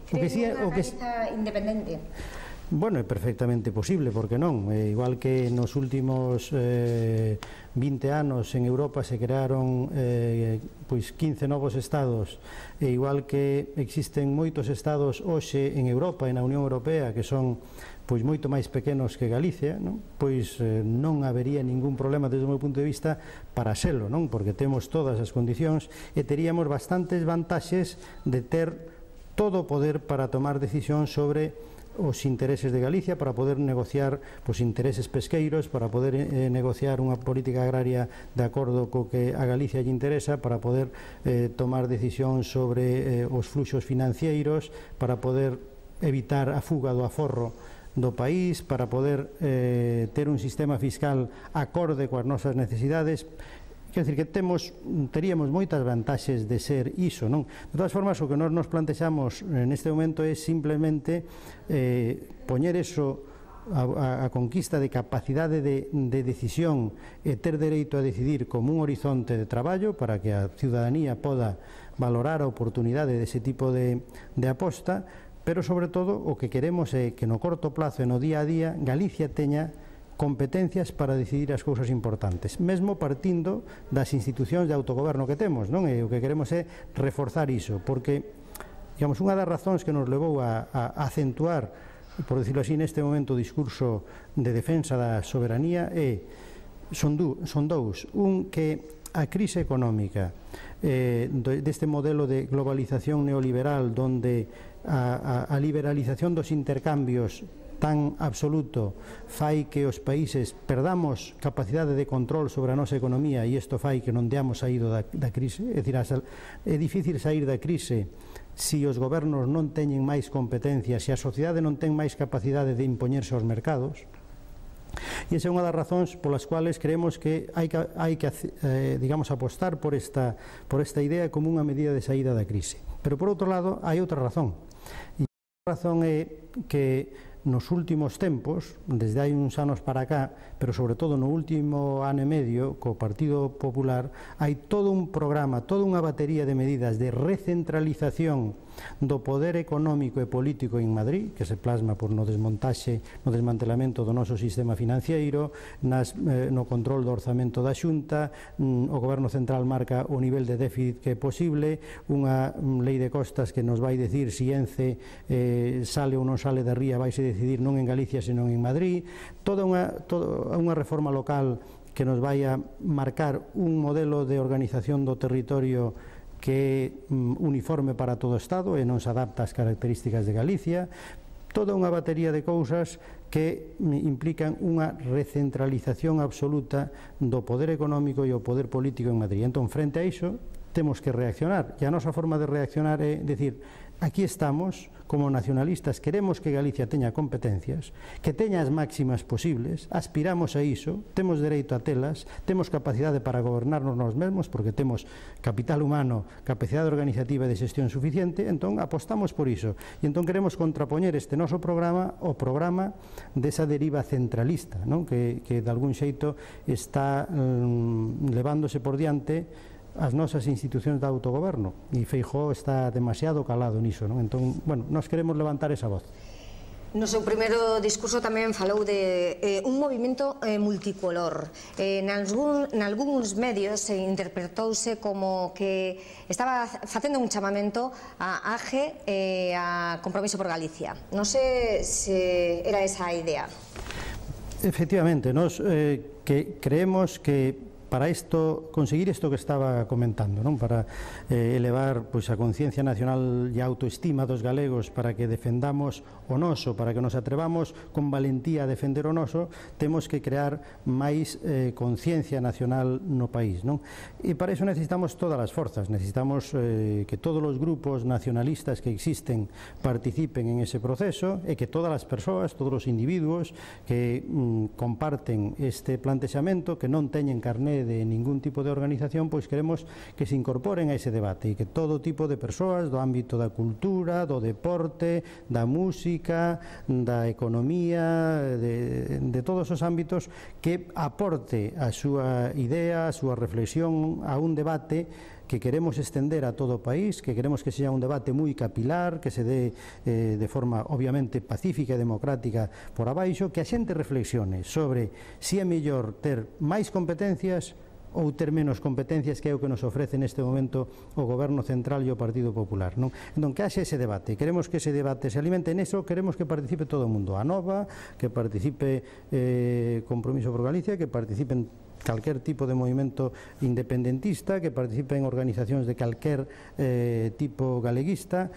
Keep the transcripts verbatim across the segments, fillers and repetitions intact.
Creen unha Galiza independente? Bueno, é perfectamente posible, porque non? Eh, igual que nos últimos eh, vinte anos en Europa se crearon eh, pois quince novos estados, e igual que existen moitos estados hoxe en Europa e na Unión Europea que son pois moito máis pequenos que Galicia, non? Pois eh, non habería ningún problema desde o meu punto de vista para selo, non? Porque temos todas as condicións e teríamos bastantes vantaxes de ter todo o poder para tomar decisión sobre os intereses de Galicia, para poder negociar os intereses pesqueiros, para poder eh, negociar unha política agraria de acordo co que a Galicia lle interesa, para poder eh, tomar decisión sobre eh, os fluxos financeiros, para poder evitar a fuga do aforro do país, para poder eh, ter un sistema fiscal acorde coas nosas necesidades. Quer dizer que temos, teríamos moitas vantaxes de ser iso, non? De todas formas, o que nós nos plantexamos neste momento é simplemente eh, poñer eso a, a, a conquista de capacidade de, de decisión e ter dereito a decidir como un horizonte de traballo para que a ciudadanía poda valorar a oportunidade dese tipo de, de aposta, pero sobre todo o que queremos é que no corto plazo e no día a día Galicia teña competencias para decidir as cousas importantes, mesmo partindo das institucións de autogoberno que temos, non? E o que queremos é reforzar iso, porque, digamos, unha das razóns que nos levou a, a acentuar, por decirlo así, neste momento o discurso de defensa da soberanía é, son, du, son dous, un que a crise económica eh, deste modelo de globalización neoliberal donde a, a, a liberalización dos intercambios tan absoluto fai que os países perdamos capacidade de control sobre a nosa economía, e isto fai que non deamos saído da, da crise. É dicir, é difícil sair da crise se os gobernos non teñen máis competencias, se a sociedade non ten máis capacidade de impoñerse aos mercados. E esa é unha das razóns polas cuales creemos que hai que, hai que eh, digamos, apostar por esta, por esta idea como unha medida de saída da crise. Pero por outro lado hai outra razón, e a razón é que nos últimos tempos, desde hai uns anos para cá, pero sobre todo no último ano e medio, co Partido Popular, hai todo un programa, toda unha batería de medidas de recentralización do poder económico e político en Madrid, que se plasma por no desmontaxe, no desmantelamento do noso sistema financiero, nas, eh, no control do orzamento da Xunta, mm, o Goberno Central marca o nivel de déficit que é posible, unha mm, lei de costas que nos vai decir si Ence eh, sale ou non sale da ría, vai se decidir non en Galicia senón en Madrid, toda unha, toda unha reforma local que nos vai a marcar un modelo de organización do territorio que é uniforme para todo o Estado e non se adapta ás características de Galicia, toda unha batería de cousas que implican unha recentralización absoluta do poder económico e o poder político en Madrid. Entón, frente a iso, temos que reaccionar, e a nosa forma de reaccionar é decir, aquí estamos, como nacionalistas, queremos que Galicia teña competencias, que teña as máximas posibles, aspiramos a iso, temos dereito a telas, temos capacidade para gobernarnos nós mesmos, porque temos capital humano, capacidade organizativa e de xestión suficiente, entón apostamos por iso. E entón queremos contrapoñer este noso programa ao programa desa deriva centralista, non? Que, que de algún xeito está um, levándose por diante as nosas institucións de autogoberno, e Feijóo está demasiado calado niso, non? Entón, bueno, nós queremos levantar esa voz. No seu primeiro discurso tamén falou de eh, un movimento eh, multicolor. Eh, nalgún, nalgúns medios eh, interpretouse como que estaba facendo un chamamento a A G e eh, a Compromiso por Galicia. Non sei se era esa a idea. Efectivamente, nós eh, que creemos que para isto, conseguir isto que estaba comentando, non? Para eh, elevar pois, a conciencia nacional e a autoestima dos galegos, para que defendamos o noso, para que nos atrevamos con valentía a defender o noso, temos que crear máis eh, conciencia nacional no país, non? E para iso necesitamos todas as forzas, necesitamos eh, que todos os grupos nacionalistas que existen participen en ese proceso, e que todas as persoas, todos os individuos que mm, comparten este plantexamento, que non teñen carné de ningún tipo de organización, pois queremos que se incorporen a ese debate, e que todo tipo de persoas do ámbito da cultura, do deporte, da música, da economía, de, de todos os ámbitos, que aporte a súa idea, a súa reflexión a un debate que queremos extender a todo o país, que queremos que sea un debate moi capilar, que se dé eh, de forma obviamente pacífica e democrática por abaixo, que a xente reflexione sobre se é mellor ter máis competencias ou ter menos competencias, que é o que nos ofrece neste momento o Goberno Central e o Partido Popular, non? Entón, que haxe ese debate, queremos que ese debate se alimente neso, queremos que participe todo o mundo, a Nova, que participe eh, Compromiso por Galicia, que participen calquer tipo de movimento independentista, que participen organizacións de calquer eh, tipo galeguista,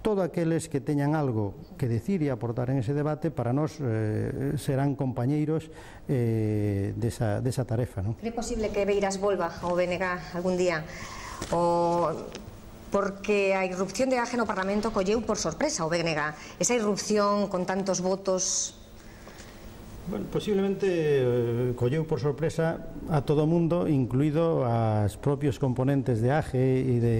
todo aqueles que teñan algo que decir e aportar en ese debate, para nós eh, serán compañeiros eh, desa, desa tarefa, non? É posible que Beiras volva ao B N G algún día, o... porque a irrupción de Age no Parlamento colleu por sorpresa o B N G. Esa irrupción con tantos votos... Bueno, posiblemente eh, colleu por sorpresa a todo o mundo, incluído as propios componentes de Age e de,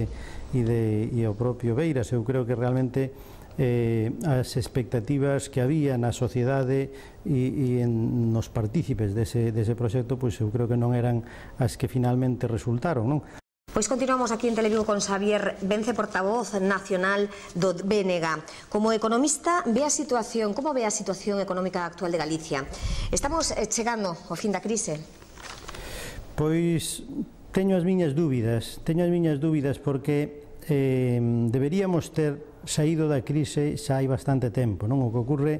e de e o propio Beiras. Eu creo que realmente eh, as expectativas que había na sociedade e, e en, nos partícipes dese, dese proxecto, pois eu creo que non eran as que finalmente resultaron, non? Pois continuamos aquí en Televigo con Xavier Vence, portavoz nacional do B N G. Como economista, ve a situación, como ve a situación económica actual de Galicia? Estamos chegando ao fin da crise? Pois teño as miñas dúbidas, teño as miñas dúbidas porque eh, deberíamos ter saído da crise xa hai bastante tempo, non? O que ocorre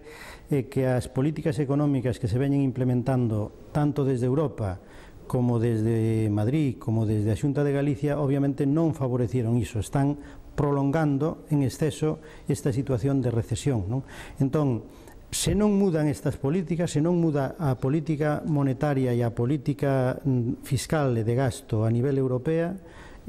é que as políticas económicas que se veñen implementando tanto desde Europa como desde Madrid, como desde a Xunta de Galicia, obviamente non favorecieron iso, están prolongando en exceso esta situación de recesión, non? Entón, se non mudan estas políticas, se non muda a política monetaria e a política fiscal e de gasto a nivel europea,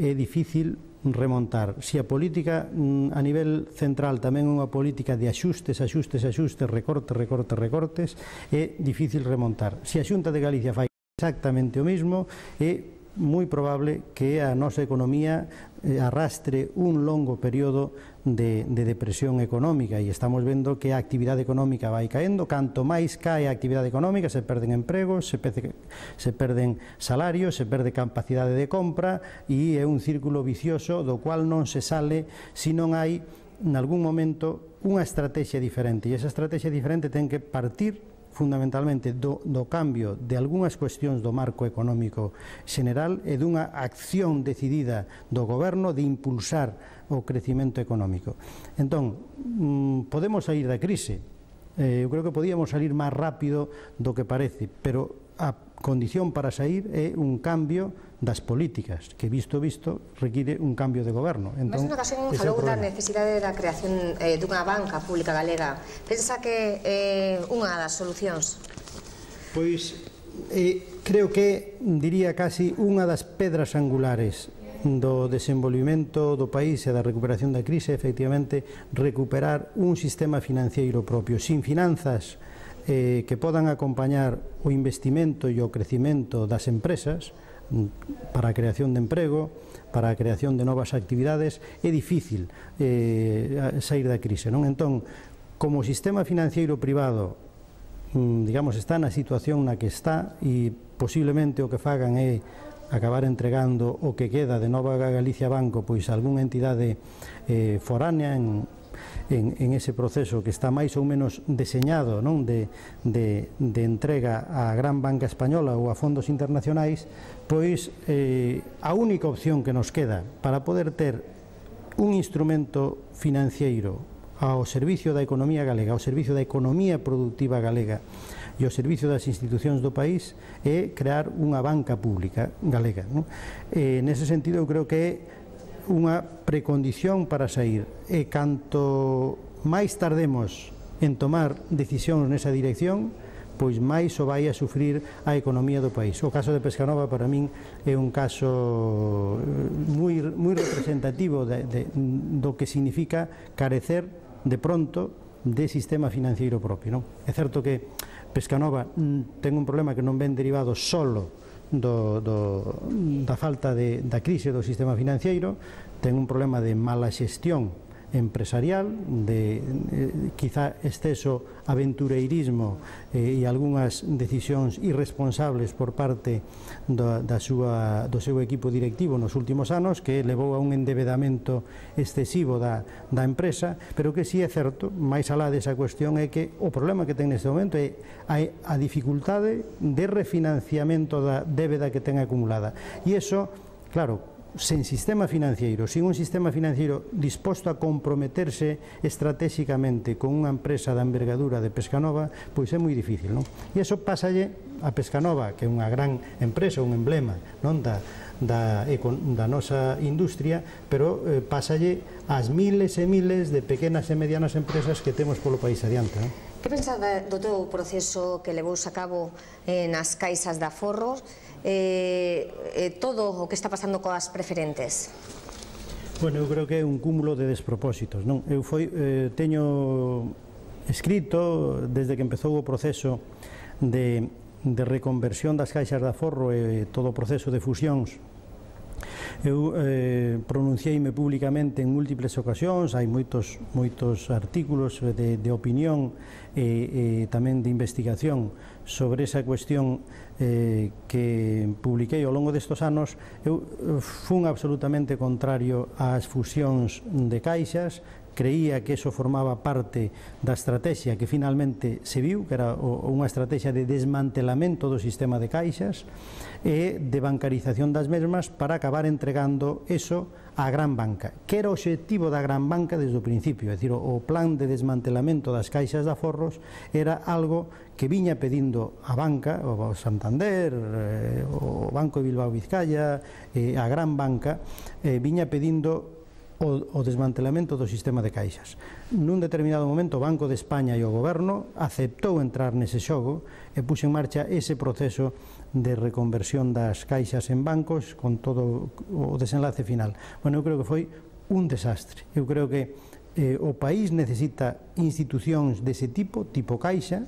é difícil remontar. Se a política a nivel central tamén é unha política de axustes, axustes, axustes, recortes, recortes, recortes, é difícil remontar. Se a Xunta de Galicia fai exactamente o mismo, é moi probable que a nosa economía arrastre un longo período de, de depresión económica, e estamos vendo que a actividade económica vai caendo. Canto máis cae a actividade económica, se perden empregos, se, perde, se perden salarios, se perde capacidade de compra, e é un círculo vicioso do cual non se sale se non hai, en algún momento, unha estrategia diferente, e esa estrategia diferente ten que partir fundamentalmente do, do cambio de algunhas cuestións do marco económico xeneral e dunha acción decidida do goberno de impulsar o crecimento económico. Entón, mmm, podemos sair da crise, eh, eu creo que podíamos salir máis rápido do que parece, pero a condición para sair é un cambio das políticas, que visto visto require un cambio de goberno. Entón, mas unha ocasión falou da necesidade da creación eh, dunha banca pública galega. Pensa que é eh, unha das solucións? Pois eh, creo que diría casi unha das pedras angulares do desenvolvimento do país e da recuperación da crise, efectivamente, recuperar un sistema financiero propio, sin finanzas eh, que podan acompañar o investimento e o crecimento das empresas para a creación de emprego, para a creación de novas actividades. É difícil eh, sair da crise, non? Entón, como o sistema financiero privado, digamos, está na situación na que está, e posiblemente o que fagan é acabar entregando o que queda de Nova Galicia Banco pois a algunha entidade eh, foránea en En, en ese proceso que está máis ou menos deseñado, non? De, de, de entrega á gran banca española ou a fondos internacionais, pois eh, a única opción que nos queda para poder ter un instrumento financiero ao servicio da economía galega, ao servicio da economía productiva galega e ao servicio das institucións do país, é crear unha banca pública galega, non? E, nese sentido, eu creo que é unha precondición para sair, e canto máis tardemos en tomar decisións nesa dirección, pois máis o vai a sufrir a economía do país. O caso de Pescanova para min é un caso moi, moi representativo de, de, do que significa carecer de pronto de sistema financiero propio, non? É certo que Pescanova ten un problema que non ven derivado solo Do, do, da falta de, da crise do sistema financiero, ten un problema de mala xestión empresarial, de eh, quizá exceso aventureirismo eh, e algunhas decisións irresponsables por parte do, da súa, do seu equipo directivo nos últimos anos, que levou a un endevedamento excesivo da, da empresa, pero que si é certo, máis alá desa cuestión, é que o problema que ten neste momento é a, a dificultade de refinanciamento da débeda que ten acumulada. E iso, claro, sen sistema financiero, sin un sistema financiero disposto a comprometerse estratégicamente con unha empresa da envergadura de Pescanova, pois é moi difícil, non? E iso pásalle a Pescanova, que é unha gran empresa, un emblema, non, da, da, da nosa industria, pero eh, pásalle ás miles e miles de pequenas e medianas empresas que temos polo país adiante, non? Que pensada do teu proceso que levouse a cabo eh, nas caixas de aforros, eh, eh, todo o que está pasando coas preferentes? Bueno, eu creo que é un cúmulo de despropósitos, non? Eu foi, eh, teño escrito desde que empezou o proceso de, de reconversión das caixas de aforro e todo o proceso de fusións. Eu eh, pronunciei-me públicamente en múltiples ocasións, hai moitos, moitos artículos de, de opinión e, e tamén de investigación sobre esa cuestión eh, que publiquei ao longo destes anos. Eu fun absolutamente contrario ás fusións de caixas, creía que eso formaba parte da estrategia que finalmente se viu, que era unha estrategia de desmantelamento do sistema de caixas e de bancarización das mesmas para acabar entregando eso á gran banca, que era o obxectivo da gran banca desde o principio. É dicir, o plan de desmantelamento das caixas de aforros era algo que viña pedindo a banca, o Santander, o Banco de Bilbao Vizcaya, a gran banca, viña pedindo o desmantelamento do sistema de caixas. Nun determinado momento o Banco de España e o Goberno aceptou entrar nese xogo e puxo en marcha ese proceso de reconversión das caixas en bancos con todo o desenlace final. Bueno, eu creo que foi un desastre. Eu creo que eh, o país necesita institucións dese tipo, tipo caixa,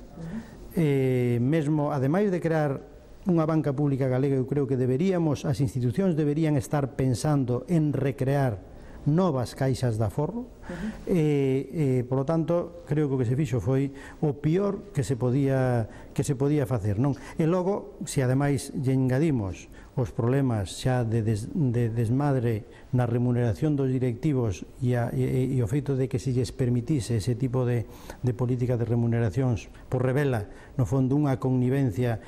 eh, mesmo, ademais de crear unha banca pública galega, eu creo que deberíamos, as institucións deberían estar pensando en recrear novas caixas de aforro. Uh-huh. e, e, polo tanto, creo que o que se fixo foi o pior que se podía que se podía facer, non? E logo, se ademais lle engadimos os problemas xa de, des, de desmadre na remuneración dos directivos e, a, e, e o feito de que se lles permitise ese tipo de, de política de remuneracións, por revela, no fondo, unha connivencia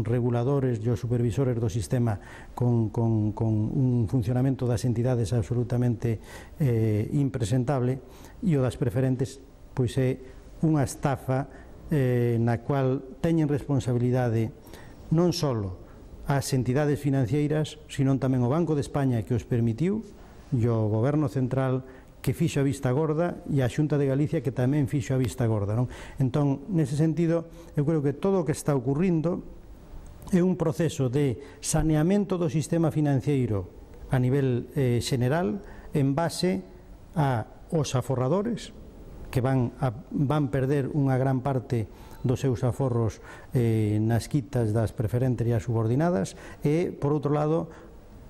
reguladores e os supervisores do sistema con, con, con un funcionamento das entidades absolutamente eh, impresentable, e o das preferentes pois é unha estafa eh, na cual teñen responsabilidade non só as entidades financeiras, sino tamén o Banco de España, que os permitiu, e o Goberno Central, que fixo a vista gorda, e a Xunta de Galicia, que tamén fixo a vista gorda, non? Entón, nese sentido, eu creo que todo o que está ocurrindo é un proceso de saneamento do sistema financeiro a nivel eh, general, en base a os aforradores, que van, a, van perder unha gran parte dos seus aforros eh, nas quitas das preferentes e as subordinadas, e, por outro lado,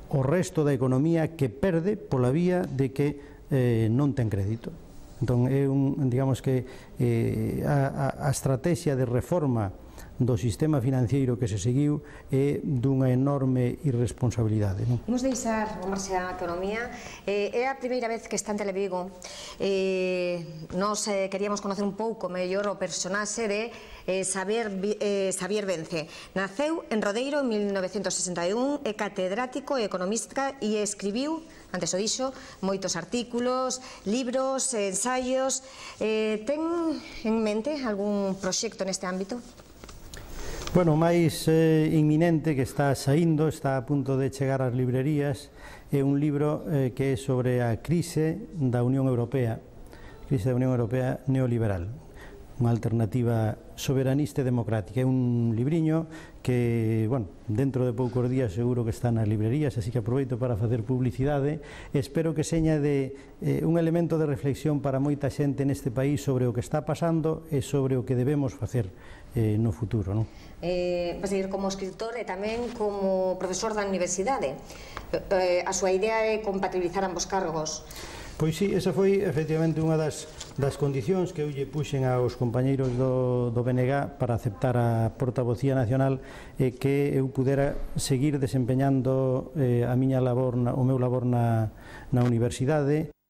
o resto da economía que perde pola vía de que eh, non ten crédito. Entón, é un, digamos que eh, a, a, a estrategia de reforma do sistema financeiro que se seguiu é dunha enorme irresponsabilidade, non? Imos deixar o marxe a economía. Eh, é a primeira vez que está en Televigo. Eh, nos eh, queríamos conocer un pouco mellor o personaxe de eh, Xavier, eh, Xavier Vence. Naceu en Rodeiro en mil novecentos sesenta e un, é catedrático e economista e escribiu, antes o dixo, moitos artículos, libros, ensaios. Eh, ten en mente algún proxecto neste ámbito? Bueno, o máis eh, inminente que está saindo, está a punto de chegar ás librerías, é un libro eh, que é sobre a crise da Unión Europea, crise da Unión Europea neoliberal, unha alternativa soberanista e democrática. É un libriño que, bueno, dentro de poucos días seguro que está nas librerías, así que aproveito para facer publicidade. Espero que seña de eh, un elemento de reflexión para moita xente neste país sobre o que está pasando e sobre o que debemos facer eh, no futuro, non? Eh, vas a ir como escritor e tamén como profesor da universidade. Eh, a súa idea é compatibilizar ambos cargos. Pois sí, esa foi efectivamente unha das, das condicións que eu lle puxen aos compañeiros do, do B N G para aceptar a portavocía nacional, e eh, que eu pudera seguir desempeñando eh, a miña labor, na, o meu labor na, na universidade.